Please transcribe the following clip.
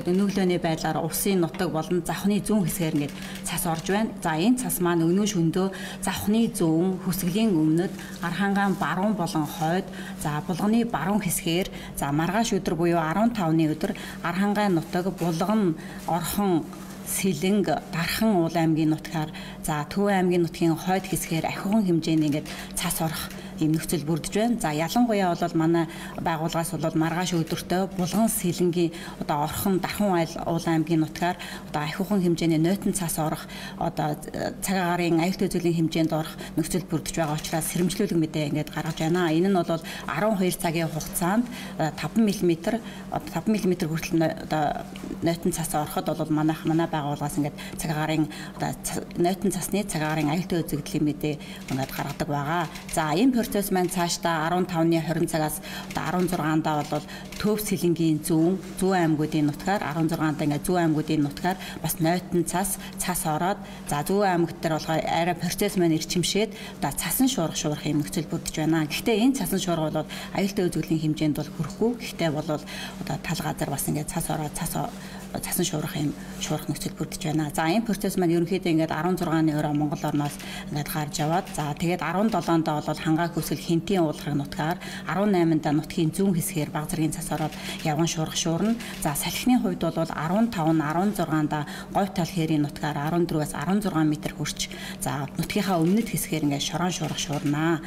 Өнөглөөний байдлаар улсын нутаг болон завхны зүүн хэсгээр ингээд цас орж байна. За энэ цас маань өнөө шөндөө завхны зүүн хүсгэлийн өмнөд Архангайн баруун болон хойд за булганы баруун хэсгээр за маргааш өдөр буюу 15-ны өдөр Архангайн нутаг булган орхон Сэлэнг Дархан уул аймгийн нутгаар за Төв аймгийн нутгийн хойд хэсгээр ахиухан хэмжээний ингээд цас орох ийм нөхцөл бүрдэж байна. За ялангуяа бол манай байгууллагаас бол маргааш өдөртөө булган Сэлэнгийн одоо орхон Дархан уул аймгийн нутгаар одоо ахиухан хэмжээний нойтон цас орох одоо цаг агарын аюултай зүйлийн хэмжээнд орох нөхцөл бүрдэж байгаа учраас сэрэмжлүүлэг мэдээ ингээд гаргаж байна. Энэ нь бол 12 цагийн хугацаанд 5 мм одоо 5 мм хүртэл одоо нойтон цас ороход бол манай байгууллагаас ингээд цаг агарын одоо нойтон цасны цаг агарын аюултай үзэгдлийн мэдээ ингээд гаргадаг байгаа. За энэ процесс маань цаашдаа 15-ны 20 цагаас одоо 16-ндаа бол Төв Сэлэнгийн зүүн аймагуудын нутгаар 16-нд ингээд зүүн аймагуудын нутгаар бас нойтон цас ороод за зүүн аймагт дээр болохоор арай процесс маань ирчимшээд одоо цасан шуурах юм нөхцөл бүрдэж байна. Гэхдээ энэ цасан шуурга бол аюултай үзэгдлийн хэмжээнд бол хүрэхгүй. Гэхдээ бол одоо тал газар бас ингээд цас ороод цасан шуурах нөхцөл бүрдэж байна. За энэ процесс маань ерөнхийдөө ингээд 16-ны өрөө Монгол орноос ингээд гарч яваад за тэгээд 17-нд бол хангаак өсгөл Хинтийн уулахрын нутгаар 18-нд нутгийн зүүн хэсгээр баг зэргийн цас ороод явган шуурна. За салхины хувьд бол 15 нь 16-нд говь тал хээрийн нутгаар 14-аас 16 м хүрч за нутгийнхаа өмнөд хэсгээр ингээд шорон шуурнаа.